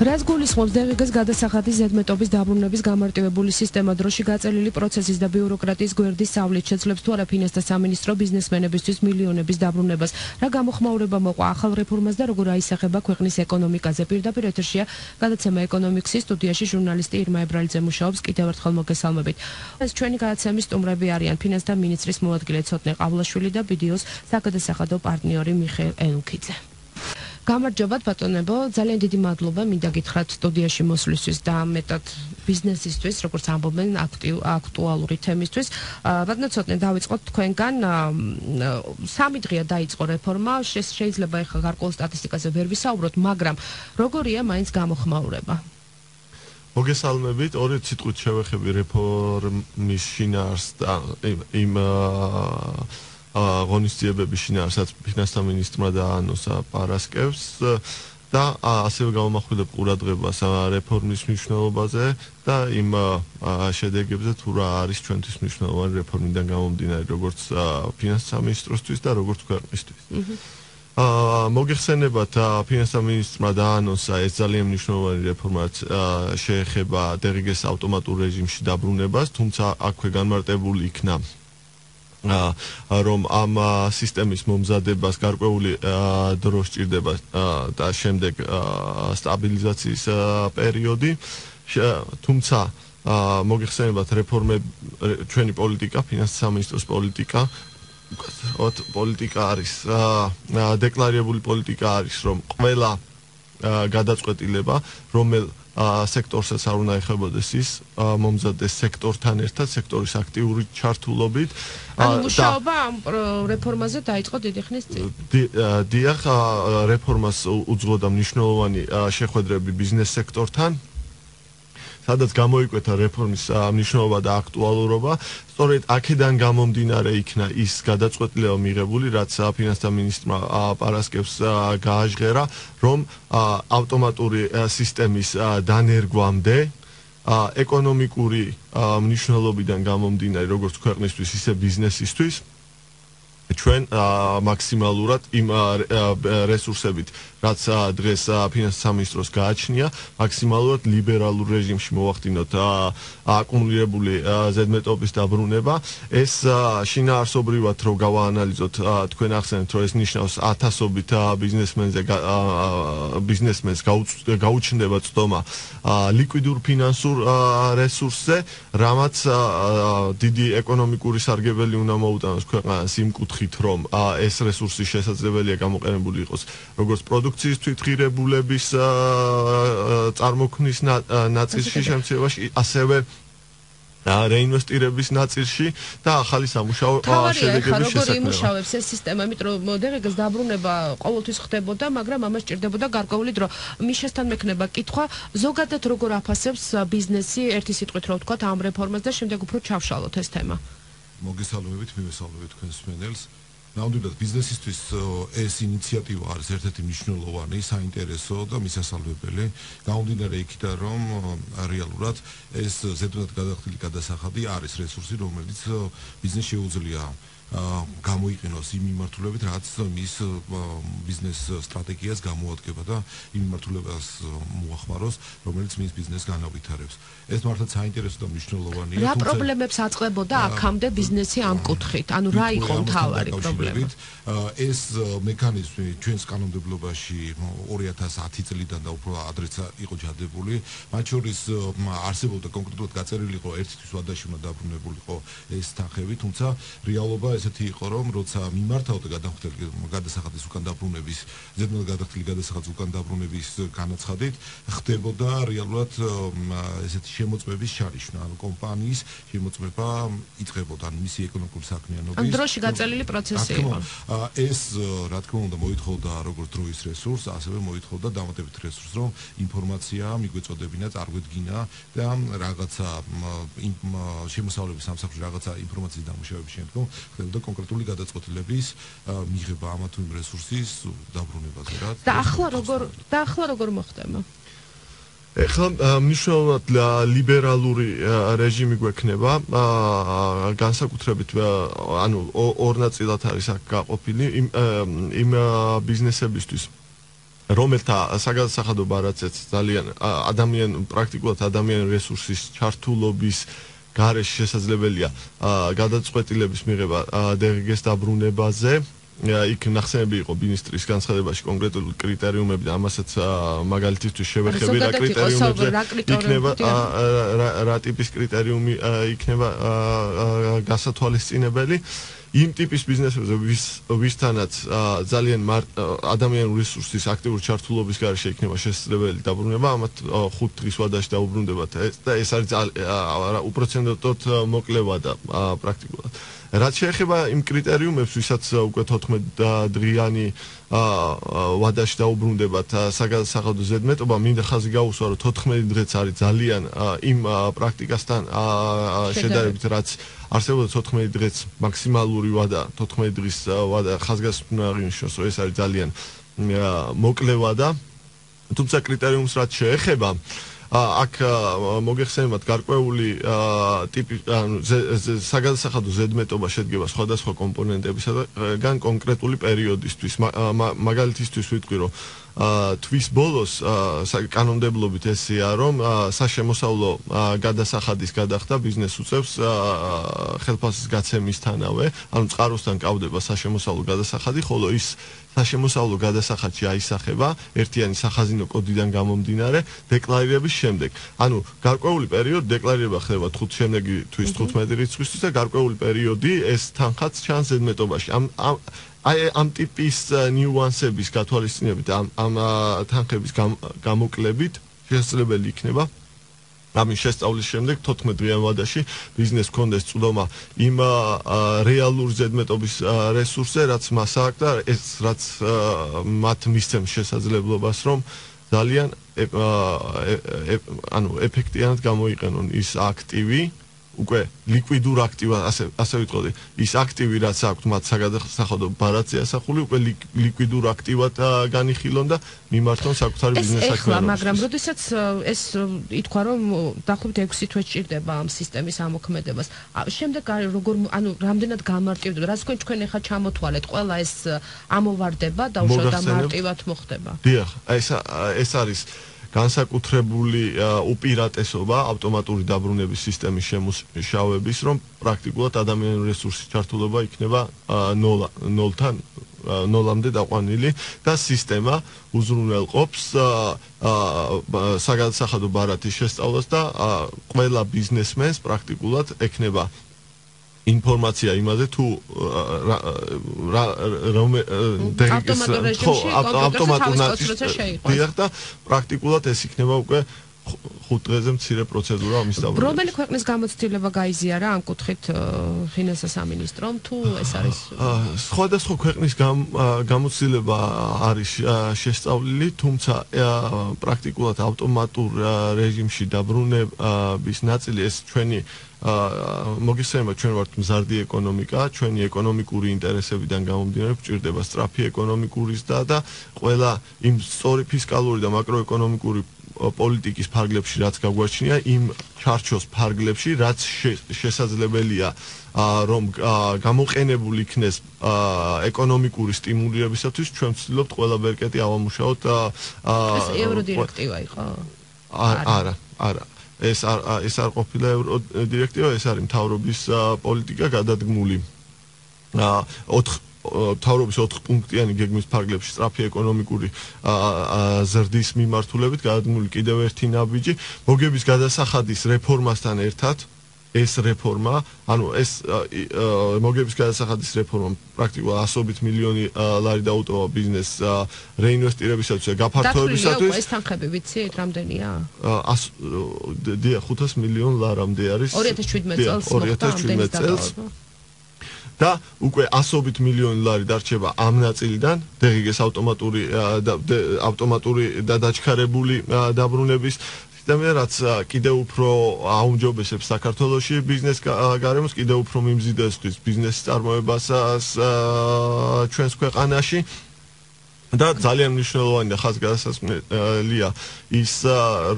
რაც გულისხმობს დეღიგას გადასახადის ზედმეტობის დაბრუნების გამარტივებული სისტემა დროში გაწელილი პროცესის და ბიუროკრატიის გვერდის სავლით შეძლებს თუ არა ფინანსთა სამინისტრო ბიზნესმენებისთვის მილიონების დაბრუნებას. რა გამოხმაურება მოყვა ახალ რეფორმას და როგორ აისახება ქვეყნის ეკონომიკაზე? პირდაპირ ეთერშია გადაცემა ეკონომიქსის სტუდიაში ჟურნალისტი ირმა ებრალიძე მუშაობს. კიდევ ერთხელ მოგესალმებით. ეს ჩვენი გადაცემის სტუმრები არიან ფინანსთა მინისტრის მოადგილე ცოტნე ყავლაშვილი და BDO-ს საგადასახადო პარტნიორი მიხეილ ელუქიძე. გამარჯობათ ბატონებო, ძალიან დიდი მადლობა მინდა გითხრათ სტუდიაში მოსვლისთვის და მეტად ბიზნესისთვის, როგორც ამბობენ, აქტუალური თემისთვის. ბატონო ცოტნე დავიწყოთ თქვენგან. 3 დღეა დაიწყო რეფორმა, შეიძლება ეხლა გარკვეულ სტატისტიკაზე ვერ ვისაუბროთ, მაგრამ როგორია მაინც გამოხმაურება? მოგესალმებით, 2 სიტყვით შევეხები რეფორმის შინაარსს და იმ ღონისძიებების შინაარსაც ფინანსთა მინისტრმა დაანონსა პარასკევს და ასევე გამომახვილებ ყურადღებას რეფორმის მნიშვნელობაზე და იმ შედეგებზე თუ რა არის ჩვენთვის მნიშვნელოვანი რეფორმიდან გამომდინარე როგორც ფინანსთა მინისტროსთვის და როგორც ქვეყნისთვის. მოგეხსენებათ ფინანსთა მინისტრმა დაანონსა ეს ძალიან მნიშვნელოვანი რეფორმა შეეხება დეღიგეს ავტომატურ რეჟიმში დაბრუნებას, თუმცა აქვე განმარტებული იქნა რომ ამ სისტემის მომზადებას გარკვეული დრო სჭირდება და შემდეგ სტაბილიზაციის პერიოდი. თუმცა მოგეხსენებათ რეფორმები ჩვენი პოლიტიკა, ფინანსთა სამინისტროს პოლიტიკა არის დეკლარირებული პოლიტიკა არის რომ ყველა გადაწყვეტილება რომელ სექტორსაც არ უნდა ეხებოდეს ის მომზადდეს სექტორთან ერთად, სექტორის აქტიური ჩართულობით. ანუ მუშაობა ამ რეფორმაზე დაიწყო დიდი ხნის წინ. დიახ, რეფორმას უძღვოდა მნიშვნელოვანი შეხვედრები ბიზნეს სექტორთან, სადაც გამოიკვეთა რეფორმის მნიშვნელობა და აქტუალურობა. სწორედ აქედან გამომდინარე იქნა ის გადაწყვეტილება მიღებული, რაც ფინანსთა მინისტრმა პარასკევს გააჟღერა, რომ ავტომატური სისტემის დანერგვამდე ეკონომიკური მნიშვნელობიდან გამომდინარე, როგორც ქვეყნისთვის, ისე ბიზნესისთვის, ჩვენ მაქსიმალურად იმ რესურსებით, რაც დღეს ფინანსთა სამინისტროს გააჩნია, მაქსიმალურად ლიბერალურ რეჟიმში მოვახდინოთ აკუმულირებული ზედმეტობის დაბრუნება. ეს შინაარსობრივად რო გავაანალიზოთ, თქვენ ახსენეთ, რომ ეს ნიშნავს ათასობით ბიზნესმენს გაუჩნდება წდომა ლიკვიდურ ფინანსურ რესურსზე, რამაც დიდი ეკონომიკური სარგებელი უნდა მოუტანოს ქვეყანას იმ კუთხით, რომ ეს რესურსი შესაძლებელია გამოყენებული იყოს როგორც პროდუქციის თვითღირებულების წარმოქმნის ნაწილში შემცირებაში, ასევე რეინვესტირების ნაწილში და ახალი სამუშაო შედეგების შესაქმნელად. როგორ იმუშავებს ეს სისტემა, იმიტომ რომ დეღიგას დაბრუნება ყოველთვის ხდებოდა, მაგრამ ამას სჭირდებოდა გარკვეული დრო. მიშასთან მექნება კითხვა, ზოგადად როგორ აფასებს ბიზნესი ერთი სიტყვით რო ვთქვათ ამ რეფორმას და შემდეგ უფრო ჩავშალოთ ეს თემა. მოგესალმებით, მივესალმებით თქვენს მსმენელს. ნამდვილად ბიზნესისთვის ეს ინიციატივა არის ერთ-ერთი მნიშვნელოვანი, საინტერესო და მისასალმებელი. გამომდინარე იქიდან, რომ რეალურად ეს ზედმეტად გადახდილი გადასახადი არის რესურსი, რომელიც ბიზნესს შეუძლია გამოიყენოს იმ მიმართულებით, რაც მის ბიზნეს სტრატეგიას გამოადგება და იმ მიმართულებას მოახმაროს, რომელიც მის ბიზნესს განავითარებს. ეს მართლაც საინტერესო და მნიშვნელოვანია. რა პრობლემებს აწყდებოდა აქამდე ბიზნესი ამ კუთხით? ანუ რა იყო მთავარი პრობლემა? ეს მექანიზმი ჩვენს კანონმდებლობაში 2010 წლიდან და უფრო ადრეც იყო ჩადებული. მათ შორის არსებობდა კონკრეტულად გაწერილი იყო ერთი თვის ვადაში უნდა დაბრუნებულიყო ეს თანხები, თუმცა რეალობა ესეთი იყო, რომ როცა მიმართავდა გადასახადის უკან დაბრუნების, ზედმეტად გადახდილი გადასახადის უკან დაბრუნების განაცხადით, ხდებოდა რეალურად ესეთი შემოწმების შარიშნა, ანუ კომპანიის შემოწმება იწყებოდა, ანუ მისი ეკონომიკური საქმიანობის. დროში გაწელილი პროცესი იყო. ეს რა თქმა უნდა მოითხოვდა როგორც დროის რესურსს, ასევე მოითხოვდა დამატებით რესურსს, რომ ინფორმაცია მიგვეწოდებინა, წარგვედგინა და რაღაცა იმ შემოსავლების სამსახურში რაღაცა ინფორმაციის დამუშავების შემდგომ ხდებოდა კონკრეტული გადაწყვეტილების მიღება ამა თუ იმ რესურსის დაბრუნებაზე, რა. და ახლა როგორ მოხდება? ეხლა მნიშვნელოვნად ლიბერალური რეჟიმი გვექნება, განსაკუთრებით ანუ ორ ნაწილად არის აქ გაყოფილი იმ ბიზნესებისთვის, რომელთა საგადასახადო ბარათზეც ძალიან პრაქტიკულად ადამიანური რესურსის ჩართულობის გარეშე შესაძლებელია გადაწყვეტილების მიღება DGG-ს დაბრუნებაზე. იქ ნახსენები იყო მინისტრის განცხადებაში კონკრეტული კრიტერიუმები და ამასაც მაგალითისთვის შევეხები რა კრიტერიუმებზე იქნება რა ტიპის კრიტერიუმი იქნება გასათვალისწინებელი იმ ტიპის ბიზნესებზე ვისთანაც ძალიან ადამიანური რესურსის აქტიური ჩართულობის გარეშე იქნება შესაძლებელი დაბრუნება ამათ 5 დღის ვადაში დაუბრუნდებათ და ეს არის უპროცენტოდ მოკლევა და პრაქტიკულად რაც შეეხება იმ კრიტერიუმებს, ვისაც უკვე 14 დღიანი ვადაში დაუბრუნდებათ საგადასახადო ზედმეტობა, მინდა ხაზი გაუსვა, რომ 14 დღეც არის ძალიან იმ პრაქტიკასთან შედარებით, რაც არსებობდა 14 დღეც მაქსიმალური ვადა, 14 დღის ვადა ხაზგასმნა აღინიშნოს, რომ ეს არის ძალიან მოკლე ვადა. თუმცა კრიტერიუმს რაც შეეხება აქ მოგეხსენებათ გარკვეული ტიპი საგადასახადო ზედმეტობა შედგება სხვადასხვა კომპონენტებისგან კონკრეტული პერიოდისთვის მაგალითისთვის ვიტყვი რომ თვის ბოლოს კანონმდებლობით ესეა რომ საშემოსავლო გადასახადის გადახდა ბიზნეს უწევს ხელფასის გაცემისთანავე ანუ წყაროსთან კავდება საშემოსავლო გადასახადი ხოლო ის საშემოსავლო გადასახადში აისახება ერთიანი სახაზინო კოდიდან გამომდინარე დეკლარირების შემდეგ. ანუ გარკვეული პერიოდი დეკლარირება ხდება 5 შემდეგი თვის 15 რიცხვისთვის და გარკვეული პერიოდი ეს თანხაც ჩანს ზედმეტობაში. ამ ტიპის ნიუანსების გათვალისწინებით ამ თანხების გამოკლებით შესაძლებელი იქნება ამის შესწავლის შემდეგ 14 დღიან ვადაში ბიზნესს ჰქონდეს წვდომა იმ რეალურ ზედმეტობის რესურსზე, რაც მას აქვს და ეს რაც მათ მისცემს შესაძლებლობას, რომ ძალიან ეფექტიანად გამოიყენონ ის აქტივი უკვე ლიკვიდურ აქტივად ასე ვიტყოდი ის აქტივი რაც აქვს მათ საგადასახადო ბარათზე ასახული უკვე ლიკვიდურ აქტივად განიხილონ და მიმართონ საკუთარი ბიზნეს საქმიანობას. მაგრამ როდესაც ეს ითქვა რომ დაახლოებით 6 თვე სჭირდება ამ სისტემის ამოქმედებას. შემდეგ როგორ რამდენად გამარტივდება, რაც თქვენ ახლა ჩამოთვალეთ, ყველა ეს ამოვარდება და უშუალოდ მარტივად მოხდება. დიახ, ეს არის განსაკუთრებული უპირატესობა ავტომატური დაბრუნების სისტემის შემუშავების, რომ პრაქტიკულად ადამიანური რესურსის ჩართულობა იქნება ნოლამდე დაყვანილი და სისტემა უზრუნველყოფს საგადასახადო ბარათის შესწავლას და ყველა ბიზნესმენს პრაქტიკულად ექნება ინფორმაცია იმაზე თუ ავტომატურ ნაცვლად და პრაქტიკულად ეს იქნება უკვე 5 დღეზე მცირე პროცედურა ამის დაბრუნება. რომელი ქვეყნის გამოცდილება გაიზიარა ამ კუთხით ფინანსთა სამინისტრომ თუ ეს არის სხვადასხვა ქვეყნის გამოცდილება არის შესწავლილი, თუმცა პრაქტიკულად ავტომატურ რეჟიმში დაბრუნების ნაწილი ეს ჩვენი მოგიხსენება ჩვენ ვართ მზარდი ეკონომიკა, ჩვენი ეკონომიკური ინტერესებიდან გამომდინარე გვჭირდება სწრაფი ეკონომიკური ზრდა და ყველა იმ სწორი ფისკალური და მაკროეკონომიკური პოლიტიკის ფარგლებში რაც გაგვაჩნია იმ ჩარჩოს ფარგლებში რაც შესაძლებელია რომ გამოყენებული იქნეს ეკონომიკური სტიმულირებისათვის ჩვენ ვცდილობთ ყველა ბერკეტი ავამუშაოთ ეს ევროდირექტივა იყო? არა ეს არ ყოფილა ევროდირექტივა, ეს არის მთავრობის პოლიტიკა გადადგმული მთავრობის 4 პუნქტიანი გეგმის ფარგლებში სწრაფი ეკონომიკური ზრდის მიმართულებით გადადგმული კიდევ ერთი ნაბიჯი მოგების გადასახადის რეფორმასთან ერთად ეს რეფორმა, ანუ ეს მოგების გადასახადის რეფორმა პრაქტიკულად 100 მილიონი ლარი დაუტოვა ბიზნესს რეინვესტირებისათვის და გაფართოებისათვის. ეს თანხები ვიცით რამდენია? 500 მილიონ ლარამდე არის 2017 წელს. და უკვე 100 მილიონი ლარი დარჩება ამ ნაწილიდან DGG-ს ავტომატური და დაჩქარებული დაბრუნების რაც კიდევ უფრო აუმჯობესებს საქართველოში ბიზნეს გარემოს, კიდევ უფრო მიმზიდესთვის ბიზნესის წარმოებასაც ჩვენს ქვეყანაში და ძალიან მნიშვნელოვანი და ხაზგასმულია ის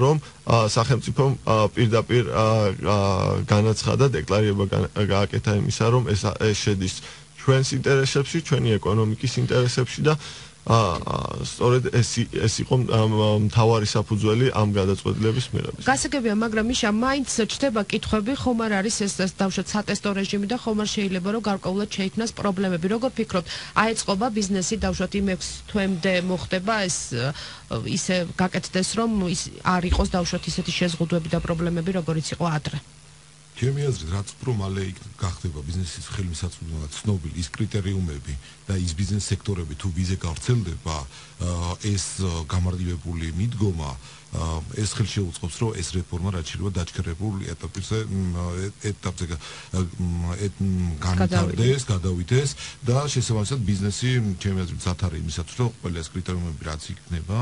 რომ სახელმწიფომ პირდაპირ განაცხადა დეკლარირება გააკეთა იმისა რომ ეს შედის ჩვენს ინტერესებში, ჩვენი ეკონომიკის ინტერესებში და სწორედ ეს იყო მთავარი საფუძველი ამ გადაწყვეტილების მიღების. გასაგებია, მაგრამ მიშა მაინც ჩდება კითხვები, ხომ არ არის ეს დავშოთ სატესტო რეჟიმი და ხომ არ შეიძლება რომ გარკვეულად შეიქმნას პრობლემები. Როგორ ფიქრობთ, აეწყობა ბიზნესი დავშოთ იმ 6 თვემდე მოხდება ეს ისე გაკეთდეს რომ არ იყოს დავშოთ ისეთი შეზღუდვები და პრობლემები როგორიც იყო ადრე. ჩემი აზრით, რაც უფრო მალე გახდება ბიზნესის ხელმისაწვდომად ცნობილი ის კრიტერიუმები და ის ბიზნეს სექტორები თუ ვიზე გავრცელდება, ეს გამარტივებული მიდგომა ეს ხელს შეუწყობს, რომ ეს რეფორმა რაც შეიძლება დაჩქერებულ ეტაპზე განვითარდეს, გადავიდეს და შესაბამისად ბიზნესი ჩემი აზრით ზათარი იმისათვის, რომ ყველა ეს კრიტერიუმები რაც იქნება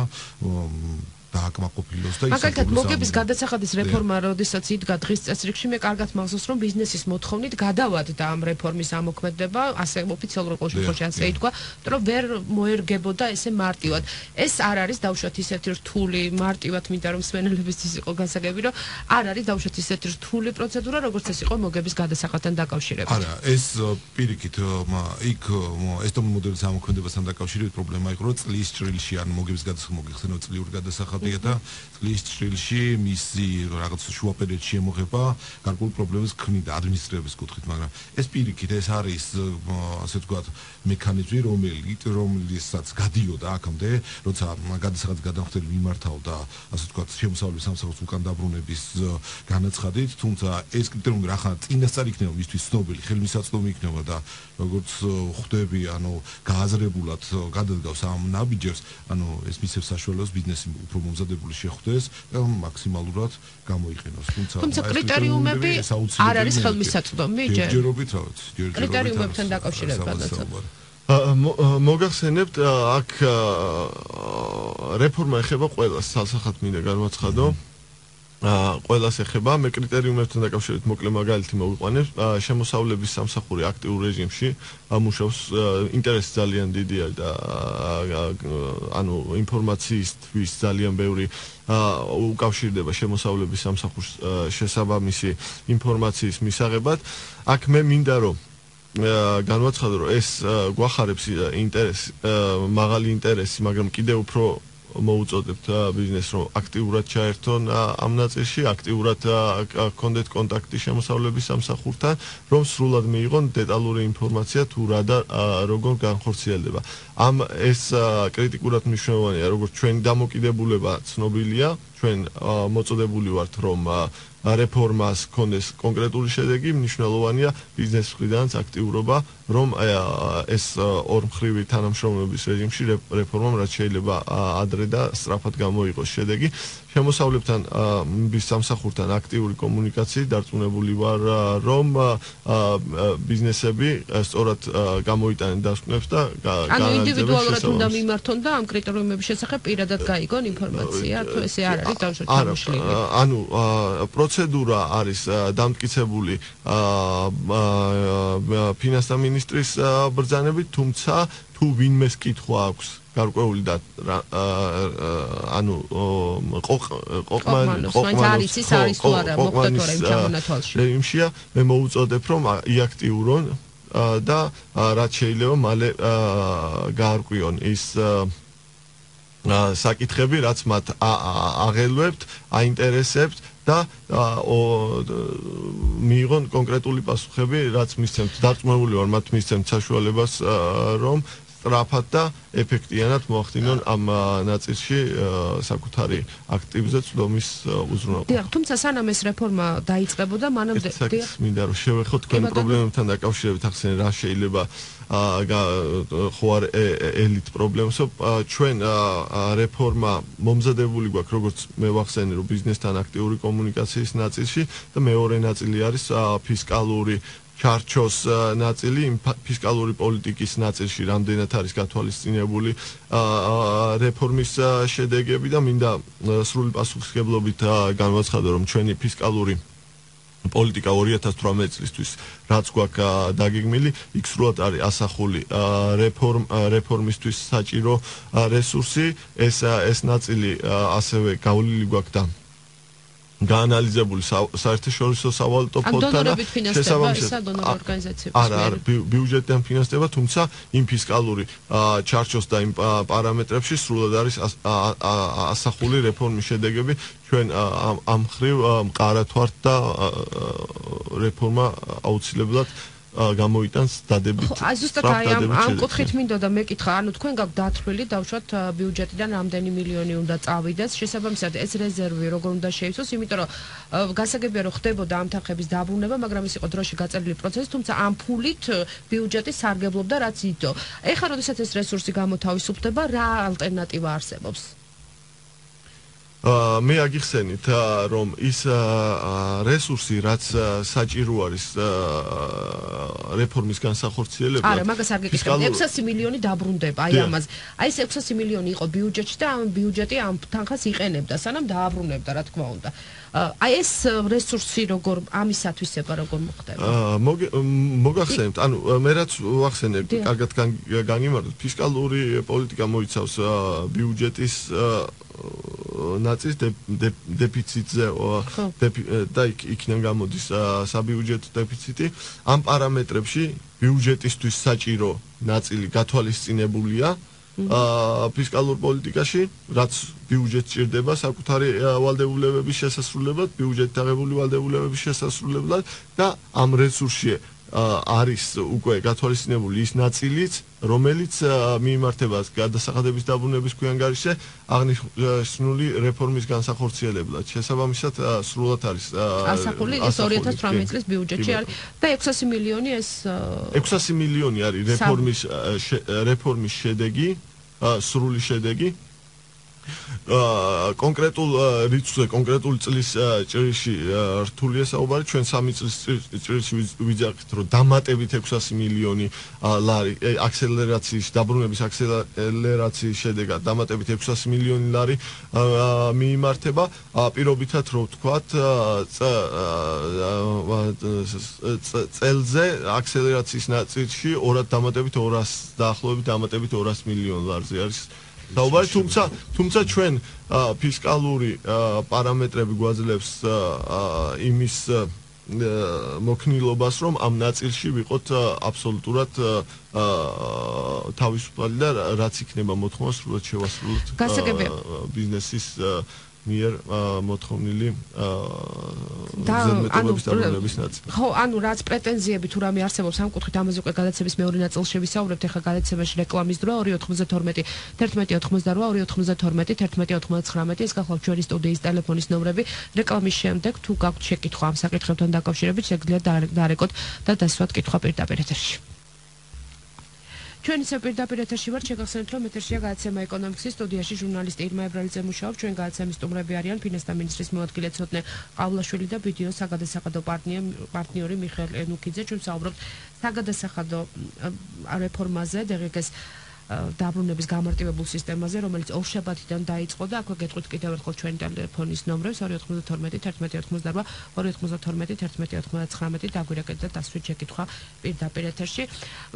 დააკმაყოფილოს და მაგალითად მოგების გადასახადის რეფორმა როდესაც იდგა დღის წესრიგში მე კარგად მახსოვს რომ ბიზნესის მოთხოვნით გადავადდა ამ რეფორმის ამოქმედება ასე ოფიციალურ ყურშემთხვევაში ასე ითქვა რომ ვერ მოერგებოდა ესე მარტივად ეს არ არის დავუშვათ ისეთი რთული მარტივად მინდა რომ მსმენელებისთვის იყო გასაგები რომ არ არის დავუშვათ ისეთი რთული პროცედურა როგორც ეს იყო მოგების გადასახადთან დაკავშირებით არა ეს პირიქით იქ ესტონური მოდელის ამოქმედებასთან დაკავშირებით პრობლემა იყო რომ წლის ჭრილში ან მოგების გადასახადი მოგიხსენო წლიური გადასახადი და წლის ჭრილში მისი რაღაც შუა პერიოდში შემოღება გარკვეული პრობლემის ქმნიდა ადმინისტრების კუთხით, მაგრამ ეს პირიქით ეს არის ასე ვთქვათ მექანიზმი რომელსაც გადიოდა აქამდე, როცა გადასახადის გადამხდელი მიმართავდა ასე ვთქვათ შემოსავლების სამსახურის უკან დაბრუნების განაცხადით, თუმცა ეს კრიტერიუმი რახან წინასწარ იქნება მისთვის ცნობილი, ხელმისაწვდომი იქნება და როგორც ხვდები, ანუ გააზრებულად გადადგავს ამ ნაბიჯებს, ანუ ეს მისცემს საშუალებას ბიზნესი უფრო მომზადებული შეხვდეს და მაქსიმალურად გამოიყენოს. თუმცა კრიტერიუმები არ არის ხელმისაწვდომი ჯერჯერობით რა ვიცი, კრიტერიუმებთან დაკავშირებადაც. მოგახსენებთ აქ რეფორმა ეხება ყველას, სალსახად მინდა განვაცხადო. ყველას ეხება, მე კრიტერიუმებთან დაკავშირებით მოკლე მაგალითი მოვიყვანებ. შემოსავლების სამსახური აქტიურ რეჟიმში მუშაობს, ინტერესი ძალიან დიდია და ანუ ინფორმაციისთვის ძალიან ბევრი უკავშირდება შემოსავლების სამსახურს შესაბამისი ინფორმაციის მისაღებად. აქ მე მინდა რომ განვაცხადო, რომ ეს გვახარებს ინტერესი, მაღალი ინტერესი, მაგრამ კიდევ უფრო მოუწოდებთ ბიზნესს რომ აქტიურად ჩაერთონ ამ ნაწილში, აქტიურად გქონდეთ კონტაქტი შემოსავლების სამსახურთან, რომ სრულად მიიღონ დეტალური ინფორმაცია თუ რა და როგორ განხორციელდება. ამ ეს კრიტიკულად მნიშვნელოვანია, როგორც ჩვენი დამოკიდებულება ცნობილია, ჩვენ მოწოდებული ვართ რომ რეფორმას ქონდეს კონკრეტული შედეგი, მნიშვნელოვანია ბიზნეს მხრიდანაც აქტიურობა, რომ ეს ორმხრივი თანამშრომლობის რეჟიმში რეფორმამ რაც შეიძლება ადრე და სწრაფად გამოიღოს შედეგი. შემოსავლებთან სამსახურთან აქტიური კომუნიკაციით დარწმუნებული ვარ, რომ ბიზნესები სწორად გამოიტანენ დასკვნებს და ანუ ინდივიდუალურად უნდა მიმართონ და ამ კრიტერიუმების შესახებ პირადად გაიგონ ინფორმაცია, თუ ესე არ არის დამშვიდობელი. ანუ პროცედურა არის დამტკიცებული ფინანსთა მინისტრის ბრძანებით, თუმცა თუ ვინმეს კითხვა აქვს გარკვეული და ანუ რეჟიმშია მე მოუწოდებ რომ იაქტიურონ და რაც შეიძლება მალე გაარკვიონ ის საკითხები რაც მათ აღელვებთ, აინტერესებთ და მიიღონ კონკრეტული პასუხები რაც მისცემთ. დარწმუნებული ვარ მათ მისცემთ საშუალებას რომ სწრაფად და ეფექტიანად მოახდინონ ამ ნაწილში საკუთარი აქტივზე წვდომის უზრუნველყოფა. დიახ, თუმცა სანამ ეს რეფორმა დაიწყებოდა, მანამდე მინდა რომ შევეხოთ თქვენ პრობლემებთან დაკავშირებით ახსენე რა შეიძლება ხო არ ელით პრობლემასო ჩვენ რეფორმა მომზადებული გვაქვს როგორც მე ვახსენე რომ ბიზნესთან აქტიური კომუნიკაციის ნაწილში და მეორე ნაწილი არის ფისკალური ჩარჩოს ნაწილი, ფისკალური პოლიტიკის ნაწილში რამდენად არის გათვალისწინებული რეფორმის შედეგები და მინდა სრული პასუხისმგებლობით განვაცხადო რომ ჩვენი ფისკალური პოლიტიკა 2018 წლისთვის რაც გვაქვს დაგეგმილი, იქ სრულად არის ასახული რეფორმისთვის საჭირო რესურსი, ეს ნაწილი ასევე გავლილი გვაქვს და გაანალიზებული საერთაშორისო სავალუტო ფონდთან და შესაბამისად არა ბიუჯეტიდან ფინანსდება, თუმცა იმ ფისკალური ჩარჩოს და იმ პარამეტრებში სრულად არის ასახული რეფორმის შედეგები. ჩვენ ამ მხრივ მყარად ვართ და რეფორმა აუცილებლად გამოიტანს დადებით. აი ზუსტად ამ კუთხით მინდოდა მეკითხა, ანუ თქვენ გაქვთ დათვლილი დავუშვათ ბიუჯეტიდან რამდენი მილიონი უნდა წავიდეს, შესაბამისად ეს რეზერვი როგორ უნდა შეიცვალოს, იმიტომ რომ გასაგებია რომ ხდებოდა ამ თანხების დაბრუნება, მაგრამ ის იყო დროში გაწერილი პროცესი, თუმცა ამ ფულით ბიუჯეტი სარგებლობდა რაც იდო. ეხლა როდესაც ეს რესურსი გამოთავისუფლდება, რა ალტერნატივა არსებობს? მე აგიხსენით რომ ის რესურსი რაც საჭირო არის რეფორმის განსახორციელებლად არა მაგას არ გეკითხებდი 600 მილიონი დაბრუნდება აი ამაზე აი ეს 600 მილიონი იყო ბიუჯეტში და ამ ბიუჯეტი ამ თანხას იყენებდა სანამ დააბრუნებდა რა თქმა უნდა აი ეს რესურსი როგორ ამისათვისება როგორ მოხდება მოგახსენებთ ანუ მე რაც ვახსენე კარგად განიმარტოთ ფისკალური პოლიტიკა მოიცავს ბიუჯეტის ნაწის დეფიციტზე და იქიდან გამოდის საბიუჯეტო დეფიციტი ამ პარამეტრებში ბიუჯეტისთვის საჭირო ნაწილი გათვალისწინებულია ფისკალურ პოლიტიკაში რაც ბიუჯეტს ჭირდება საკუთარი ვალდებულებების შესასრულებლად ბიუჯეტით აღებული ვალდებულებების შესასრულებლად და ამ რესურსში არის უკვე გათვალისწინებული ის ნაწილიც რომელიც მიიმართება გადასახადების დაბრუნების ქვიანგარიშზე აღნიშნული რეფორმის განსახორციელებლად შესაბამისად სრულად არის ასახული ეს 2018 წლის ბიუჯეტში არის და 600 მილიონი ეს 600 მილიონი არის რეფორმის შედეგი სრული შედეგი კონკრეტულ რიცხვზე კონკრეტულ წლის ჭრილში რთულია საუბარი ჩვენ 3 წლის ჭრილში ვიძახით რომ დამატებით 600 მილიონი ლარი აქსელერაციის დაბრუნების აქსელერაციის შედეგად დამატებით 600 მილიონი ლარი მიიმართება პირობითად რომ ვთქვათ წელზე აქსელერაციის ნაწილში დამატებით 200 დაახლოებით დამატებით 200 მილიონ ლარზე არის საუბარი თუმცა ჩვენ ფისკალური პარამეტრები გვაძლევს იმის მოქნილობას რომ ამ ნაწილში ვიყოთ აბსოლუტურად თავისუფალი და რაც იქნება მოთხოვნა სრულად შევასრულოთ ბიზნესის მიერ მოთხოვნილი ზედმეტობების დაბრუნების ნაწილი. ხო, ანუ რაც პრეტენზიები თუ რამე არსებობს ამ კუთხით ამაზე უკვე გადაცემის მეორე ნაწილში შევისაუბრებთ, ახლა გადაცემაში რეკლამის დროა 292 1188 292 1199 ეს გახლავთ ჩვენი სტუდიის ტელეფონის ნომრები. რეკლამის შემდეგ თუ გაქვთ შეკითხვა ამ საკითხებთან დაკავშირებით, შეგიძლიათ დარეკოთ და დასვათ კითხვა პირდაპირ ეთერში. ჩვენ ისე პირდაპირ ეთერში ვართ, შეგახსენებთ, რომ ეთერშია გადაცემა ეკონომიკის სტუდიაში ჟურნალისტი ირმა ებრალიძე მუშაობს. ჩვენ გადაცემის სტუმრები არიან ფინანსთა მინისტრის მოადგილე ცოტნე ყავლაშვილი და ბიდეოს საგადასახადო პარტნიორი მიხეილ ენუქიძე. ჩვენ საუბრობთ საგადასახადო რეფორმაზე, დღეს დაბრუნების გამარტივებულ სისტემაზე, რომელიც ორშაბათიდან დაიწყო და აქვე გეტყვით კიდევ ერთხელ ჩვენი ტელეფონის ნომრებს 292 1188 292 1199 დაგვირეკეთ და დასვით შეკითხვა პირდაპირ ეთერში.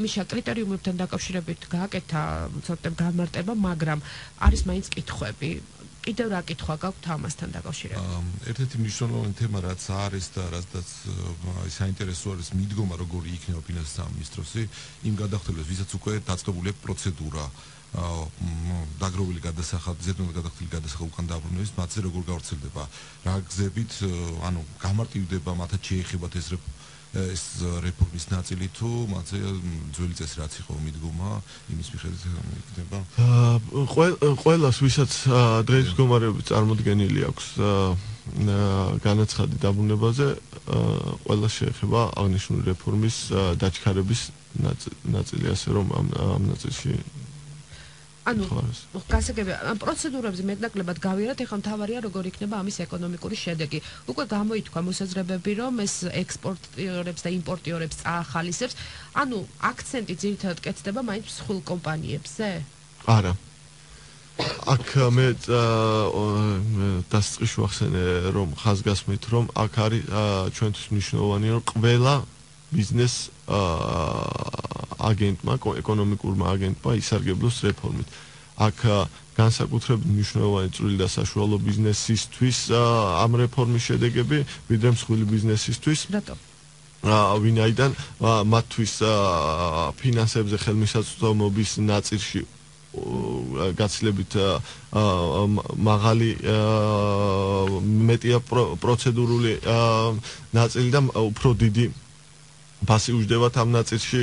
მიშა კრიტერიუმებთან დაკავშირებით გააკეთა ცოტა გამარტება, მაგრამ არის მაინც კითხვები. კიდევ რა კითხვა გაქვთ ამასთან დაკავშირებით? ერთ-ერთი მნიშვნელოვანი თემა რაც არის და რაც საინტერესო არის მიდგომა როგორი იქნება ფინანსთა სამინისტროსი იმ გადახდებას ვისაც უკვე დაწყებული აქვს პროცედურა დაგროვილი გადასახადი ზედმეტად გადახდილი გადასახადი უკან დაბრუნების მათზე როგორ გავრცელდება რა გზებით ანუ გამარტივდება მათაც შეეხებათ ეს რეფორმის ნაწილი თუ მათზე ძველი წესი რაც იყო მიდგომა იმის მიხედვით იქნება ყველას ვისაც დღეს მდგომარეობით წარმოდგენილი აქვს განაცხადი დაბრუნებაზე ყველა შეეხება აღნიშნული რეფორმის დაჩქარების ნაწილი ასე რომ ამ ნაწილში ანუ გასაგებია ამ პროცედურებზე მეტნაკლებად გავიერათ ეხლა მთავარია როგორ იქნება ამის ეკონომიკური შედეგი უკვე გამოითქვა მოსაზრებები რომ ეს ექსპორტიორებს და იმპორტიორებს წაახალისებს ანუ აქცენტი ძირითადად კეთდება მაინც მსხვილ კომპანიებზე არა აქ მე დასწრიშ ვახსენე რომ ხაზგასმით რომ აქ არის ჩვენთვის მნიშვნელოვანი რომ ყველა ბიზნეს აგენტმა ეკონომიკურმა აგენტმა ისარგებლოს რეფორმით. აქ განსაკუთრებით მნიშვნელოვანი წვრილი და საშუალო ბიზნესისთვის ამ რეფორმის შედეგები, ვიდრე მსხვილი ბიზნესისთვის. რატო? ვინაიდან მათთვის ფინანსებზე ხელმისაწვდომობის ნაწილში გაცილებით მაღალი მეტია პროცედურული ნაწილი და უფრო დიდი ფასი უჯდებათ ამ ნაწილში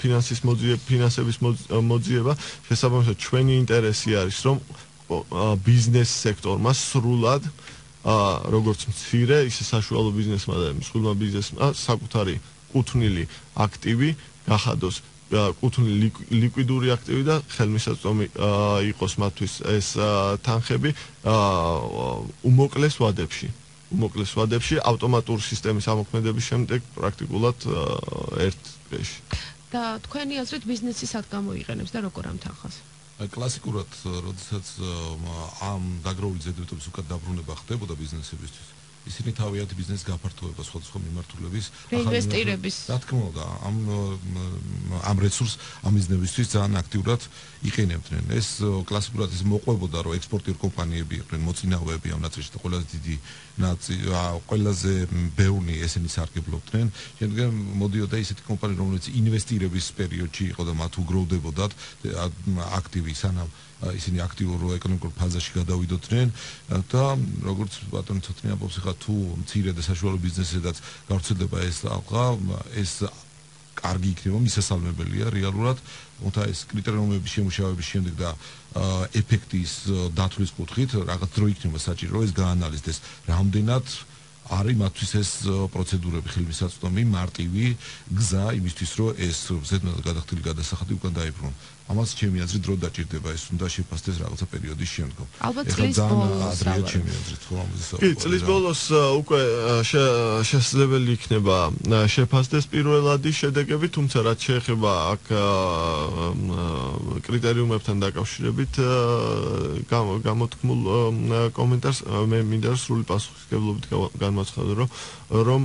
ფინანსების მოძიება. შესაბამისად, ჩვენი ინტერესი არის, რომ ბიზნეს სექტორმა სრულად როგორც მცირე, ისე საშუალო ბიზნესმა და მსხვილმა ბიზნესმა საკუთარი კუთვნილი აქტივი გახადოს კუთვნილი ლიკვიდური აქტივი და ხელმისაწვდომი იყოს მათთვის ეს თანხები უმოკლეს ვადებში ავტომატური სისტემის ამოქმედების შემდეგ პრაქტიკულად ერთ დღეში. და თქვენი აზრით ბიზნესი სად გამოიყენებს და როგორ ამ თანხას? კლასიკურად, როდესაც ამ დაგროვილი ზედმეტობის უკეთ დაბრუნება ხდებოდა ბიზნესებისთვის, ისინი თავიანთი ბიზნესის გაფართოება სხვადასხვა მიმართულების ინვესტირების რა თქმა უნდა ამ რესურს ამ ბიზნესისთვის ძალიან აქტიურად იყენებდნენ. ეს კლასიკურად ის მოყვებოდა, რომ ექსპორტიორ კომპანიები იყვნენ მოწინააღმდეგეები ამ ნაწილში და ყველაზე ბევრი ესენი სარგებლობდნენ. შემდგომ მოდიოდა ისეთი კომპანია, რომელიც ინვესტირების პერიოდში იყო და მათ უგროვდებოდათ აქტივი სანამ ისინი აქტიურ ეკონომიკურ ფაზაში გადავიდოდნენ და როგორც ბატონი ცოტნე ამბობს, ხა თუ მცირე და საშუალო ბიზნესებსაც გავრცელდება ეს ალყა, ეს კარგი იქნება, მისასალმებელია რეალურად, თუმცა ეს კრიტერიუმების შემუშავების შემდეგ და ეფექტის დათვლის კუთხით რაღაც დრო იქნება საჭირო, ეს გაანალიზდეს, რამდენად არის მათთვის ეს პროცედურები ხელმისაწვდომი, მარტივი გზა იმისთვის, რომ ეს ზედმეტად გადახდილი გადასახადი უკან დაიბრუნოს. ამას ჩემი აზრით დრო დაჭირდება, ეს უნდა შეფასდეს რაღაცა პერიოდის შემდგომ. ალბათ წლის ბოლოს წლის ბოლოს უკვე შესაძლებელი იქნება შეფასდეს პირველადი შედეგები, თუმცა რაც შეეხება აქ კრიტერიუმებთან დაკავშირებით გამოთქმულ კომენტარს მე მინდა სრული პასუხისმგებლობით განმაცხადო, რომ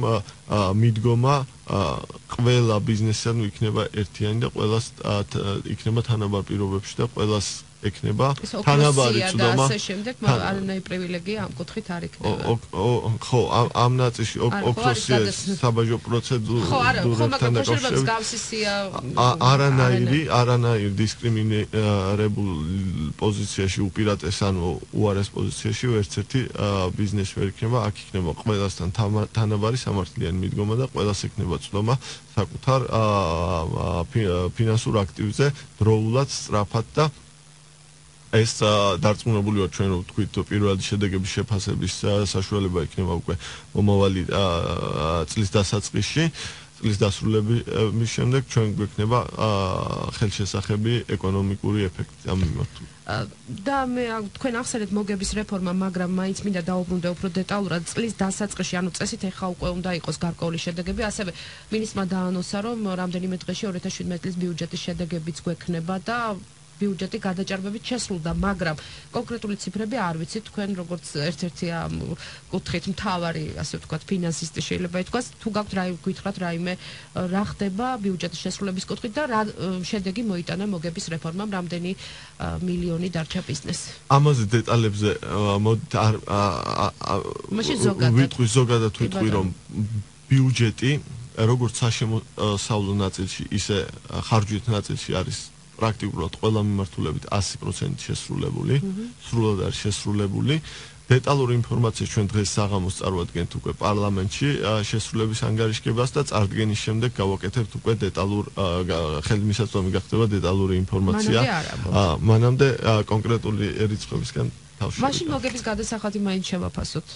მიდგომა ყველა ბიზნესთან იქნება ერთიანი და ყველას იქნება თანაბარ პირობებში და ყველას ექნება თანაბარი წვდომა. ასე შემდეგ არანაირი პრივილეგია ამ კუთხით არ იქნება. ხო, ამ ნაწილში ოქროსია საბაჟო პროცედურებთან დაკავშირებით არანაირი დისკრიმინირებულ პოზიციაში უპირატეს ანუ უარეს პოზიციაში ერთ-ერთი ბიზნესი ვერ იქნება, აქ იქნება ყველასთან თანაბარი სამართლიანი მიდგომა და ყველას ექნება წვდომა საკუთარ ფინანსურ აქტივზე დროულად, სწრაფად და ეს დარწმუნებული ვარ ჩვენ რომ თქვით პირველადი შედეგების შეფასების საშუალება იქნება უკვე მომავალი წლის დასაწყისში, წლის დასრულების შემდეგ ჩვენ გვექნება ხელშესახები ეკონომიკური ეფექტი ამ მიმართულებით. და მე თქვენ ახსენეთ მოგების რეფორმა, მაგრამ მაინც მინდა დაუბრუნდე უფრო დეტალურად წლის დასაწყისში, ანუ წესით ეხა უკვე უნდა იყოს გარკვეული შედეგები, ასევე მინისტრმა დაანონსა, რომ რამდენიმე დღეში 2017 წლის ბიუჯეტის შედეგებიც გვექნება და ბიუჯეტი გადაჭარბებით შესრულდა, მაგრამ კონკრეტული ციფრები არ ვიცით, თქვენ როგორც ერთ-ერთი ამ კუთხით მთავარი, ასე ვთქვათ, ფინანსისტი შეიძლება ითქვას, თუ გაქვთ გითხრათ რაიმე რა ხდება ბიუჯეტის შესრულების კუთხით და რა შედეგი მოიტანა მოგების რეფორმამ, რამდენი მილიონი დარჩა ბიზნესს. ამაზე დეტალებზე ვიტყვი ზოგადად ვიტყვი, რომ ბიუჯეტი როგორც საშემოსავლო ნაწილში, ისე ხარჯვით ნაწილში არის პრაქტიკულად ყველა მიმართულებით 100% შესრულებული, სრულად არის შესრულებული. დეტალური ინფორმაცია ჩვენ დღეს საღამოს წარვადგენთ უკვე პარლამენტში შესრულების ანგარიშგებას და წარდგენის შემდეგ გავაკეთებთ უკვე დეტალურ ხელმისაწვდომი გახდება დეტალური ინფორმაცია. მანამდე კონკრეტული რიცხვებისგან თავში. მაშინ მოგების გადასახადი მაინც შევაფასოთ.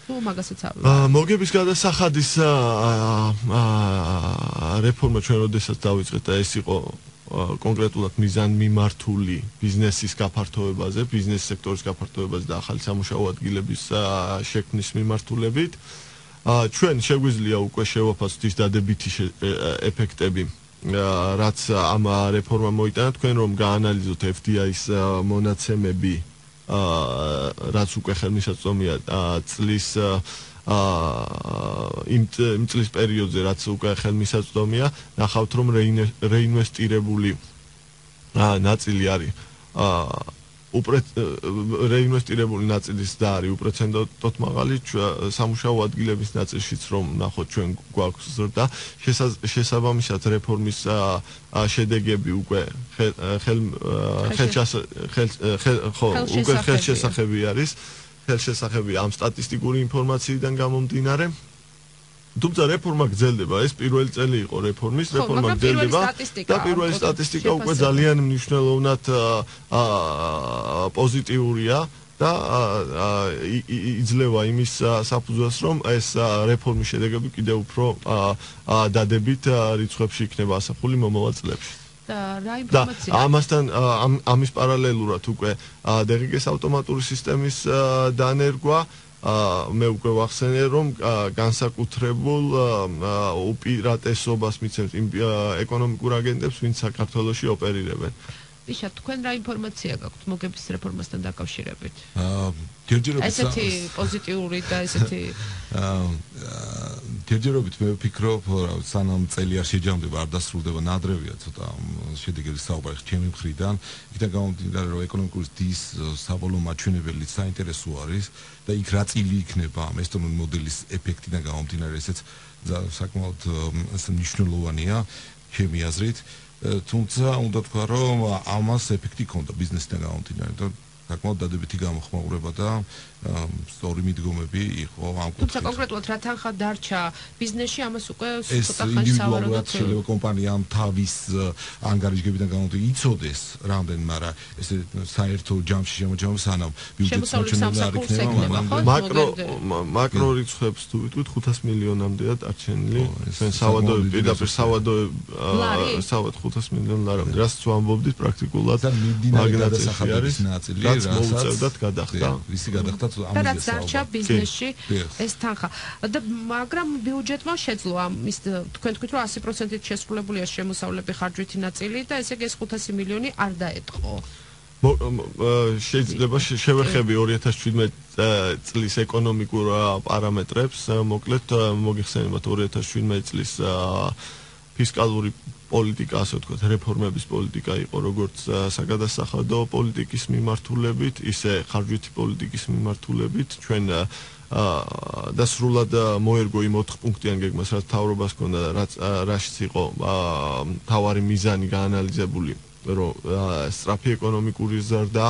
თუ მაგასაც არ მოგების გადასახადის რეფორმა ჩვენ როდესაც დავიწყეთ და ეს იყო კონკრეტულად მიზანმიმართული ბიზნესის გაფართოებაზე, ბიზნეს სექტორის გაფართოებაზე და ახალი სამუშაო ადგილების შექმნის მიმართულებით. ჩვენ შეგვიძლია უკვე შევაფასოთ ის დადებითი ეფექტები, რაც ამ რეფორმამ მოიტანა. თქვენ რომ გაანალიზოთ FDI-ის მონაცემები, რაც უკვე ხელმისაწვდომია წლის იმ წლის პერიოდზე, რაც უკვე ხელმისაწვდომია, ნახავთ რომ რეინვესტირებული ნაწილი არის რეინვესტირებული ნაწილის და არის უპრეცედენტოდ მაღალი სამუშაო ადგილების ნაწილშიც რომ ნახოთ ჩვენ გვაქვს ზრდა შესაბამისად რეფორმის შედეგები უკვე ხელშესახები არის ხელშესახები ამ სტატისტიკური ინფორმაციიდან გამომდინარე თუმცა რეფორმა გრძელდება ეს პირველი წელი იყო რეფორმის რეფორმა გრძელდება და პირველი სტატისტიკა უკვე ძალიან მნიშვნელოვნად პოზიტიურია და იძლევა იმის საფუძველს რომ ეს რეფორმის შედეგები კიდევ უფრო დადებით რიცხვებში იქნება ასახული მომავალ წლებში და ამასთან ამის პარალელურად უკვე DGG-ს ავტომატური სისტემის დანერგვა მე უკვე ვახსენე რომ განსაკუთრებულ უპირატესობას მიცემს იმ ეკონომიკურ აგენტებს ვინც საქართველოში ოპერირებენ იშა თქვენ რა ინფორმაცია გაქვთ მოგების რეფორმასთან დაკავშირებით ჯერჯერობით ესეთი პოზიტიური და ესეთი ჯერჯერობით მე ვფიქრობ რომ სანამ წელი არ შეჯამდება არ დასრულდება ნადრევია ცოტა შედეგების საუბარი ჩემი მხრიდან იქიდან გამომდინარე რომ ეკონომიკური ზრდის საბოლოო მაჩვენებელი საინტერესო არის და იქ რა წილი იქნება ამ ესტონური მოდელის ეფექტიდან გამომდინარე ესეც საკმაოდ მნიშვნელოვანია ჩემი აზრით თუმცა უნდა თქვა რომ ამას ეფექტი ჰქონდა ბიზნესთან გამომდინარე და საკმაოდ დადებითი გამოხმაურება და სწორი მიდგომები იყო ამ კუთხით. თუმცა კონკრეტულად რა თანხა დარჩა ბიზნესში ამას უკვე ცოტა ხანს სავარაუდოდ შეიძლება კომპანიამ თავის ანგარიშგებიდან გამომდინარე იცოდეს რამდენი, მაგრამ ესე საერთო ჯამში შემოჭამ სანამ ბიუჯეტს მოჩვენება არ იქნება, მაკრო რიცხვებს თუ ვიტყვით 500 მილიონამდეა დარჩენილი. ჩვენ სავადოები პირდაპირ სავადოები 500 მილიონ ლარამდე. რაც თუ ამბობდით პრაქტიკულად მაგნატიზაცია არის ნაწილი, რაც მოუწევდათ გადახდა. ისი გადახდა და რაც დარჩა ბიზნესში ეს თანხა და მაგრამ ბიუჯეტმა შეძლო ამის თქვენ თქვით რომ 100%-ით შესრულებულია შემოსავლები ხარჯვითი ნაწილი და ესე იგი ეს 500 მილიონი არ დაეტყო შეიძლება შევეხები 2017 წლის ეკონომიკურ პარამეტრებს მოკლედ მოგიხსენებათ 2017 წლის ფისკალური პოლიტიკა, ასე ვთქვათ, რეფორმების პოლიტიკა იყო როგორც საგადასახადო პოლიტიკის მიმართულებით, ისე ხარჯვითი პოლიტიკის მიმართულებით. ჩვენ და სრულად მოერგო იმ 4 პუნქტიან გეგმას, რაც მთავრობას ჰქონდა და რაშიც იყო მთავარი მიზანი გაანალიზებული, რომ სწრაფი ეკონომიკური ზრდა,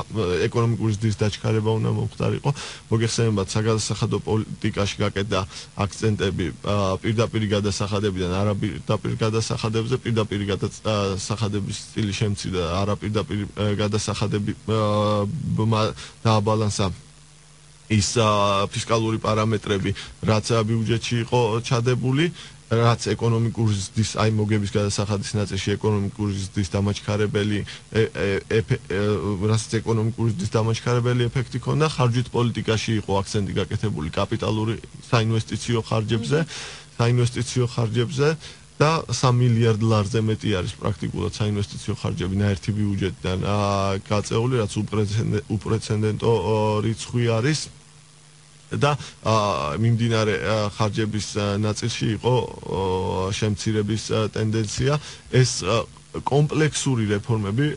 ეკონომიკური ზრდის დაჩქარება უნდა მომხდარიყო. მოგეხსენებათ საგადასახადო პოლიტიკაში გაკეთდა აქცენტები პირდაპირ გადასახადებიდან არაპირდაპირ გადასახადებზე, პირდაპირ გადასახადების სტილი შემცირდა, არაპირდაპირ გადასახადები დააბალანსა ის ფისკალური პარამეტრები, რაც ბიუჯეტში იყო ჩადებული. რაც ეკონომიკური ზრდის აი მოგების გადასახადის ნაწილში ეკონომიკური ზრდის დამაჩქარებელი რაც ეკონომიკური ზრდის დამაჩქარებელი ეფექტი ჰქონდა ხარჯვით პოლიტიკაში იყო აქცენტი გაკეთებული კაპიტალური საინვესტიციო ხარჯებზე და 3 მილიარდ ლარზე მეტი არის პრაქტიკულად საინვესტიციო ხარჯები ნაერთი ბიუჯეტიდან გაწეული რაც უპრეცედენტო რიცხვი არის და მიმდინარე ხარჯების ნაწილში იყო შემცირების ტენდენცია ეს კომპლექსური რეფორმები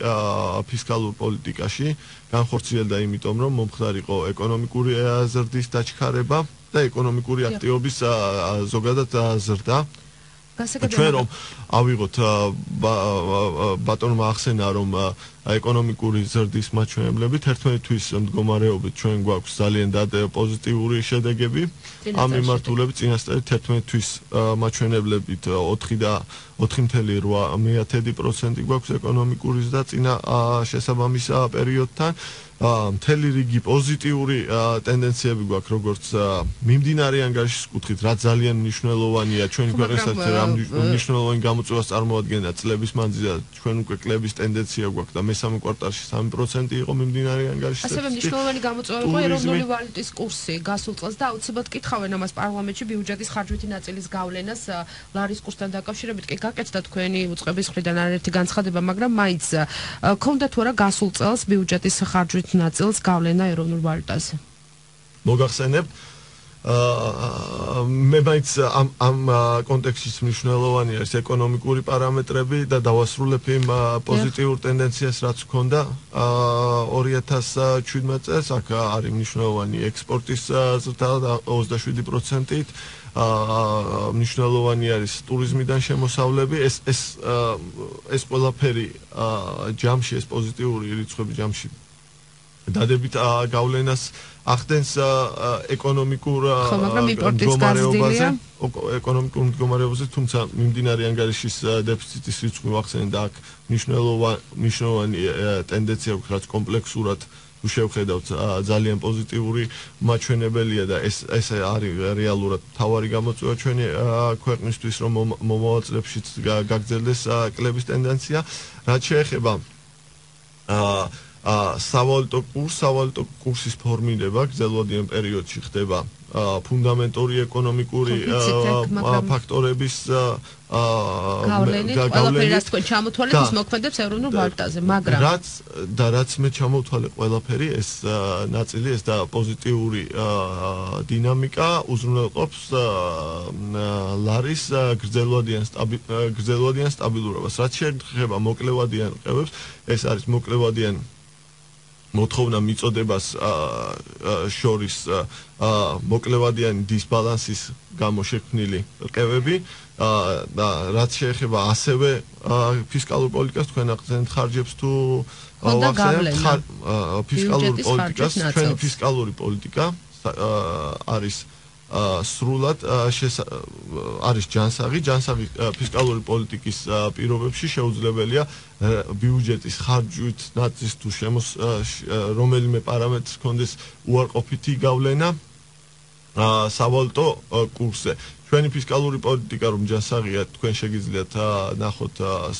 ფისკალურ პოლიტიკაში განხორციელდა იმიტომ რომ მომხდარიყო ეკონომიკური ზრდის დაჩქარება და ეკონომიკური აქტივობის ზოგადად ზრდა ჩვენ რომ ავიღოთ ბატონმა ახსენა რომ ეკონომიკური ზრდის მაჩვენებლებით 11 თვის მდგომარეობით ჩვენ გვაქვს ძალიან პოზიტიური შედეგები ამ მიმართულებით წინასწარი 11 თვის მაჩვენებლებით 4.8% გვაქვს ეკონომიკური ზრდა წინა შესაბამის პერიოდთან მთელი რიგი პოზიტიური ტენდენციები გვაქვს როგორც მიმდინარე ანგარიშის კუთხით რაც ძალიან მნიშვნელოვანია ჩვენი ქვეყნისათვის რა მნიშვნელოვანი გამოწვევას წარმოადგენდა წლების მანძილზე ჩვენ უკვე კლების ტენდენცია გვაქვს და მესამე კვარტალში 3% იყო მიმდინარე ანგარიშის ასევე მნიშვნელოვანი გამოწვევა იყო ეროვნული ვალუტის კურსი გასულ წელს და აუცილებლად კითხავენ ამას პარლამენტში ბიუჯეტის ხარჯვითი ნაწილის გავლენას ლარის კურსთან დაკავშირებით კი გაკეთდა თქვენი უწყების მხრიდან არაერთი განცხადება მაგრამ მაინც ქონდა თუ არა გასულ წელს ბიუჯეტის ხარჯვით ნაწილს გავლენა ეროვნულ ვალუტაზე. მოგახსენებ მე მაინც ამ კონტექსტის მნიშვნელოვანი არის ეკონომიკური პარამეტრები და დავასრულებ იმ პოზიტიურ ტენდენციას, რაც ჰქონდა 2017 წელს. აქ არის მნიშვნელოვანი ექსპორტის ზრდა 27%-ით. მნიშვნელოვანი არის ტურიზმიდან შემოსავლები. ეს ყველაფერი ჯამში, ეს პოზიტიური რიცხვები ჯამში დადებით გავლენას ახდენს ეკონომიკურ მდგომარეობაზე, თუმცა მიმდინარე ანგარიშის დეფიციტის რიცხვი ვახსენე და აქ მნიშვნელოვანი ტენდენცია აქვს, რაც კომპლექსურად თუ შევხედავთ ძალიან პოზიტიური მაჩვენებელია და ეს არის რეალურად მთავარი გამოწვევა ჩვენი ქვეყნისთვის, რომ მომავალ წლებშიც გაგრძელდეს კლების ტენდენცია. რაც შეეხება სავალუტო კურსის ფორმირება გრძელვადიან პერიოდში ხდება ფუნდამენტური ეკონომიკური ფაქტორების გავლენით, ყველაფერი რაც თქვენ ჩამოთვალეთ, ის მოქმედებს ევროპულ ვალუტაზე, მაგრამ რაც მე ჩამოვთვალე ყველაფერი, ეს ნაწილი, ეს და პოზიტიური დინამიკა უზრუნველყოფს ლარის გრძელვადიან სტაბილურობას. რაც შეეხება მოკლევადიან ყევებს, ეს არის მოკლევადიან მოთხოვნა მიწოდებას შორის მოკლევადიანი დისბალანსის გამო შექმნილი ყევები და რაც შეეხება ასევე ფისკალურ პოლიტიკას, თქვენ ახსენეთ ხარჯებს თუ ვახსენებთ ფისკალურ პოლიტიკას, ჩვენი ფისკალური პოლიტიკა არის სრულად არის ჯანსაღი ფისკალური პოლიტიკის პირობებში შეუძლებელია ბიუჯეტის ხარჯვით ნაწის თუ რომელიმე პარამეტრის კონდეს უარყოფითი გავლენა სავალუტო კურსზე. ჩვენი ფისკალური პოლიტიკა რომ ჯანსაღია, თქვენ შეგიძლიათ ნახოთ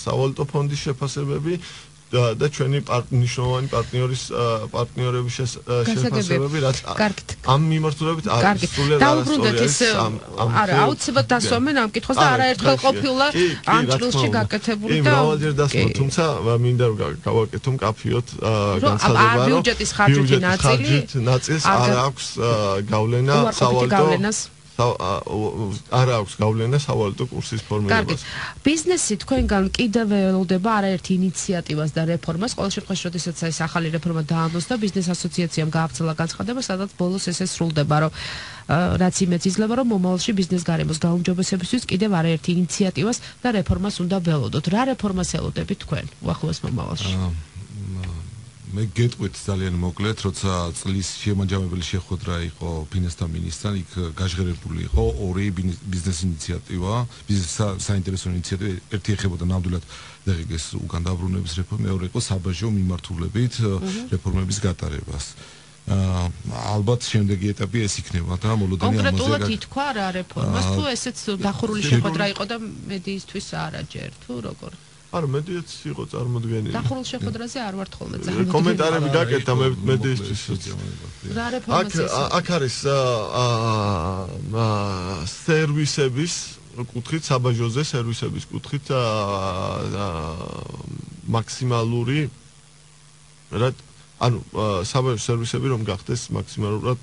სავალუტო ფონდის შეფასებები და ჩვენი მნიშვნელოვანი პარტნიორების შეფასებები, რაც ამ მიმართულებით არის სრულად არასწორი. არა, აუცილებლად დასვამენ ამ კითხვას და არაერთხელ ყოფილა ამ ჭრილში გაკეთებული და მრავალჯერ დასმა, თუმცა მინდა რომ გავაკეთო მკაფიოდ განცხადება, რომ ბიუჯეტის ხარჯითი ნაწილს არ აქვს გავლენა სავალუტო არ აქვს გავლენა სავალუტო კურსის ფორმირებას. ბიზნესი თქვენგან კიდევ ველოდება არაერთი ინიციატივას და რეფორმას. ყოველ შემთხვევაში, როდესაც ეს ახალი რეფორმა დაამოწდა, ბიზნეს ასოციაციამ გაავრცელა განცხადება, სადაც ბოლოს ესე სრულდება, რომ რაც იმეც იძლევა, რომ მომავალში ბიზნეს გარემოს გაუმჯობესებისთვის კიდევ არაერთი ინიციატივას და რეფორმას უნდა ველოდოთ. რა რეფორმას ელოდებით თქვენ უახლოეს მომავალში? მე გეტყვით ძალიან მოკლედ, როცა წლის შემაჯამებელი შეხვედრა იყო ფინანსთა მინისტრთან, იქ გაჟღერებული იყო ორი ბიზნეს ინიციატივა, ბიზნეს საინტერესო ინიციატივა, ერთი ეხებოდა ნამდვილად დღეს უკან დაბრუნების რეფორმა, მეორე იყო საბაჟო მიმართულებით რეფორმების გატარებას. ალბათ შემდეგი ეტაპი ეს იქნება და მოლოდანი ამაზე კონკრეტულად ითქვა რა რეფორმას, თუ ესეც დახურული შეხვედრა იყო და მედიისთვის არაჯერ, თუ როგორ? არა, მედიაც იყო წარმოდგენილი. დახურულ შეხვედრაზე არ ვარ თხოლმე ძალიან. კომენტარები გაკეთა მედიისთვის. რა რეფორმას ეს? აქ არის სერვისების კუთხით, საბაჟოზე სერვისების კუთხით მაქსიმალური საბაჟო სერვისები რომ გახდეს მაქსიმალურად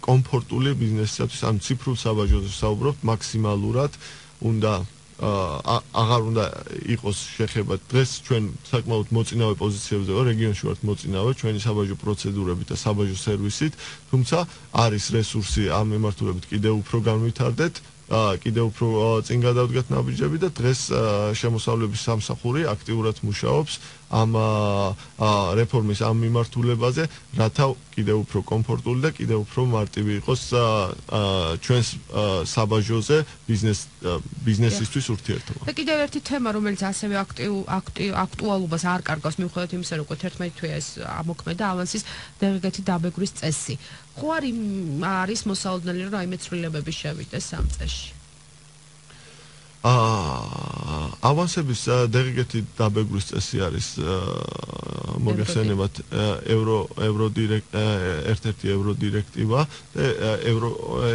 კომფორტული ბიზნესისათვის, ანუ ციფრულ საბაჟოზე საუბრობთ, მაქსიმალურად უნდა აღარ უნდა იყოს შეხება. დღეს ჩვენ საკმაოდ მოწინავე პოზიციებზე ვარ, რეგიონში ვართ მოწინავე ჩვენი საბაჟო პროცედურებით და საბაჟო სერვისით, თუმცა არის რესურსი ამ მიმართულებით კიდევ უფრო განვითარდეთ, კიდევ უფრო წინ გადავდგათ ნაბიჯები და დღეს შემოსავლების სამსახური აქტიურად მუშაობს ამ რეფორმის ამ მიმართულებაზე, რათა კიდევ უფრო კომფორტული და კიდევ უფრო მარტივი იყოს ჩვენს საბაჟოზე ბიზნესისთვის ურთიერთობა. და კიდევ ერთი თემა, რომელიც ასევე აქტუალობას არ კარგავს, მიუხედავად იმისა, რომ 11 თვეა ეს ამოქმედა ავანსის დეღეგეთი დაბეგვრის წესი. ხო არის მოსალოდნელი, რომ რაიმე ცვლილებები შევიდეს ამ წესში? ავანსების დეღეგეთი დაბეგვის წესი არის მოგესალმებათ ერთ-ერთი ევროდირექტივა და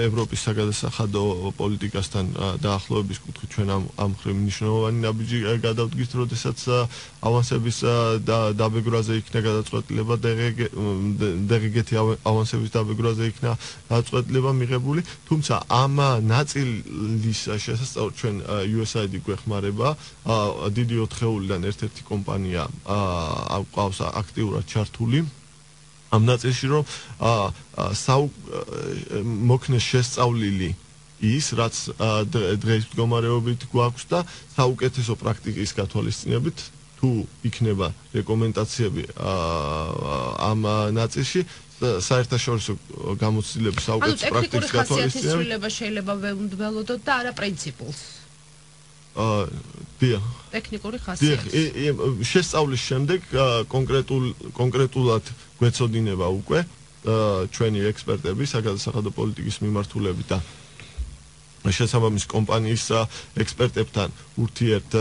ევროპის საგადასახადო პოლიტიკასთან დაახლოების კუთხით ჩვენ ამ ხრივ მნიშვნელოვანი ნაბიჯი გადავდგით, როდესაც ავანსების დაბეგვრაზე იქნა გადაწყვეტილება DGT ავანსების დაბეგვრაზე იქნა გადაწყვეტილება მიღებული, თუმცა ამ ნაწილის შესაძლებლად ჩვენ USAID გვეხმარება დიდი 4-ეულიდან ერთ-ერთი კომპანია ყავს აქტიურად ჩართული ამ ნაწილში, რომ მოქნეს შესწავლილი ის, რაც დღეს მდგომარეობით გვაქვს და საუკეთესო პრაქტიკის გათვალისწინებით თუ იქნება რეკომენდაციები ამ ნაწილში საერთაშორისო გამოცდილების საუკეთესო პრაქტიკის გათვალისწინებით ცვლილება შეიძლება ვეუნდველოდოთ და არა პრინციპულს. ტექნიკური ხასიათი. შესწავლის შემდეგ კონკრეტულად გვეცოდინება უკვე ჩვენი ექსპერტები საგადასახადო პოლიტიკის მიმართულებით და შესაბამის კომპანიის ექსპერტებთან ურთიერთ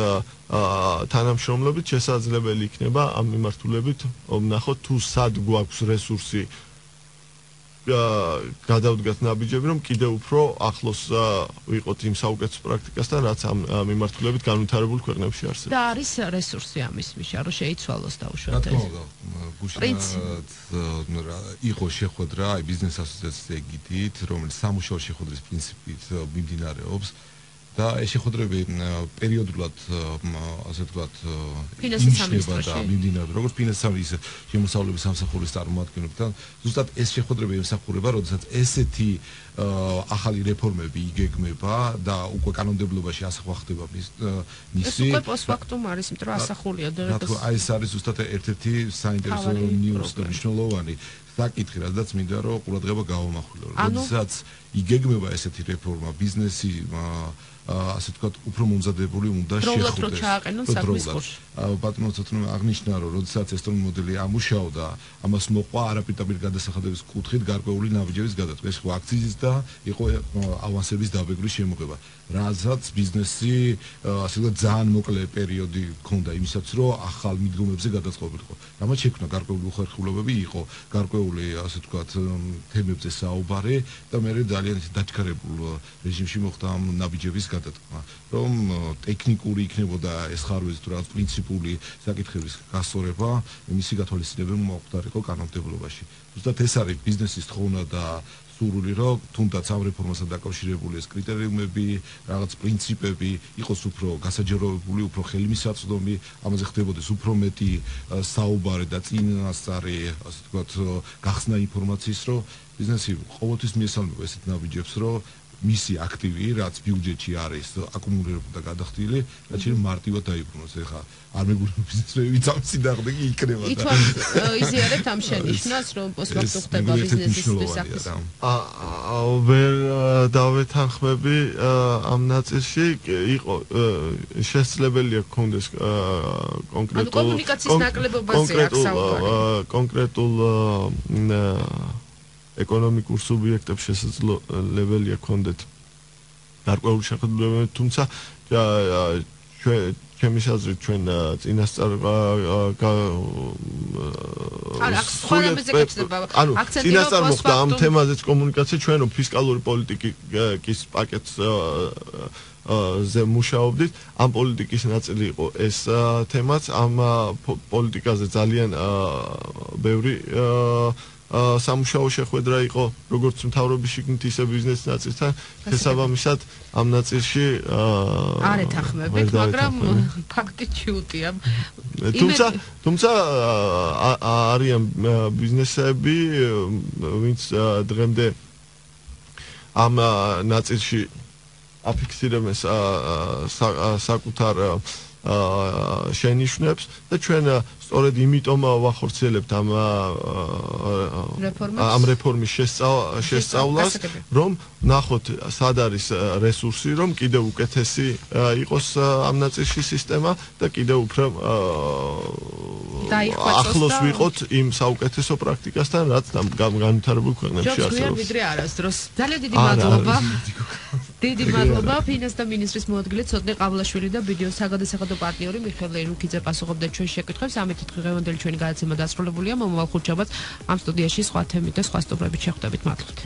თანამშრომლობით შესაძლებელი იქნება ამ მიმართულებით ვნახოთ თუ სად გვაქვს რესურსი გადავდგათ ნაბიჯები, რომ კიდევ უფრო ახლოს ვიყოთ იმ საუკეთესო პრაქტიკასთან, რაც ამ მიმართულებით განვითარებულ ქვეყნებში არსებობს. და არის რესურსი ამის მიშა, რომ შეიცვალოს დაუშვათ ეს. იყო შეხვედრა ბიზნეს ასოციაციის ეგიდით, რომელიც სამუშაო შეხვედრის პრინციპით მიმდინარეობს. და ეს შეხვედრები პერიოდულად ასე ვთქვათ ინიშნება და მიმდინარეობს როგორც ფინანსის შემოსავლების სამსახურის წარმომადგენლებთან ზუსტად ეს შეხვედრები ემსახურება როდესაც ესეთი ახალი რეფორმები იგეგმება და უკვე კანონმდებლობაში ასახვა ხდება მისი ეს უკვე პოსტფაქტუმ არის იმიტომ რომ ასახულია დღეს აი ეს არის ზუსტად ერთ-ერთი საინტერესო ნიუს და მნიშვნელოვანი საკითხი რადგან მინდა რომ ყურადღება გავამახვილო როდესაც იგეგმება ესეთი რეფორმა ბიზნესი ასე ვთქვათ, უფრო მომზადებული უნდა შეხვდეს. ბატონო ცოტნე აღნიშნა, რომ როდესაც ესტონური მოდელი ამუშავდა, ამას მოყვა არაპირდაპირ გადასახადების კუთხით გარკვეული ნაბიჯების გადაწყვეტა. ეს იყო აქციზის და იყო ავანსების დაბეგრის შემოღება. რაზეც ბიზნესი ასე ვთქვათ, ძალიან მოკლე პერიოდი ჰქონდა იმისაც, რომ ახალ მიდგომებზე გადაწყობილიყო. რამაც შექმნა გარკვეული უხერხულობები, იყო გარკვეული ასე ვთქვათ, თემებზე საუბარი და მე ძალიან დაჩქარებულ რეჟიმში მოხდა ამ ნაბიჯების გადატყმა, რომ ტექნიკური იქნებოდა ეს ხარვეზი თუ რაღაც პრინციპული საკითხების გასწორება, მისი გათვალისწინება მოხდარიყო კანონმდებლობაში. ზუსტად ეს არის ბიზნესის თხოვნა და სურვილი, რომ თუნდაც ამ რეფორმასთან დაკავშირებული ეს კრიტერიუმები, რაღაც პრინციპები იყოს უფრო გასაჯეროებული, უფრო ხელმისაწვდომი, ამაზე ხდებოდეს უფრო მეტი საუბარი და წინასწარი, ასე ვთქვათ, გახსნა ინფორმაციის, რომ ბიზნესი ყოველთვის მიესალმება ესეთ ნაბიჯებს, რომ მისი აქტივი, რაც ბიუჯეტში არის აკუმულირებული და გადახდილი, რაც შეიძლება მარტივად დაიბრუნოს. ეხლა არ მეგობრებო ბიზნესმენები წამსი დაღდეგი იქნება და ითვალ იზიარებთ ამ შენიშვნას, რომ პოსტფაქტუმ ხდება ბიზნესისთვის საქმის. ვერ დავეთანხმები ამ ნაწილში, იყო შესაძლებელია გქონდეს კონკრეტულ ეკონომიკურ სუბიექტებს შესაძლებელია გქონდეთ გარკვეული შეხედულებები, თუმცა ჩემი აზრით ჩვენ წინასწარ წინასწარ მოხდა ამ თემაზეც კომუნიკაცია, ჩვენ რომ ფისკალური პოლიტიკის პაკეტს ზე მუშაობდით, ამ პოლიტიკის ნაწილი იყო ეს თემაც, ამ პოლიტიკაზე ძალიან ბევრი სამუშაო შეხვედრა იყო როგორც მთავრობის შიგნით ისე ბიზნეს ნაწილთან შესაბამისად ამ ნაწილში არ ეთანხმებით, მაგრამ ფაქტი ჩიუტია. თუმცა არიან ბიზნესები, ვინც დღემდე ამ ნაწილში აფიქსირებენ საკუთარ შენიშვნებს და ჩვენ სწორედ იმიტომ ვახორციელებთ ამ რეფორმის შესწავლას, რომ ნახოთ სად არის რესურსი, რომ კიდევ უკეთესი იყოს ამ ნაწილში სისტემა და კიდევ უფრო ახლოს ვიყოთ იმ საუკეთესო პრაქტიკასთან, რაც განვითარებულ ქვეყნებში არსებობს. ვიდრე არასდროს. ძალიან დიდი მადლობა. დიდი მადლობა ფინანსთა მინისტრის მოადგილე ცოტნე ყავლაშვილი და ბიდეოს საგადასახადო პარტნიორი მიხეილ ერუნქიძე პასუხობდა ჩვენს შეკითხვებს. ამით დღევანდელი ჩვენი გადაცემა დასრულებულია. მომავალ ხუთშაბათს ამ სტუდიაში სხვა თემით და სხვა სტუმრებით შეხვდებით. მადლობთ.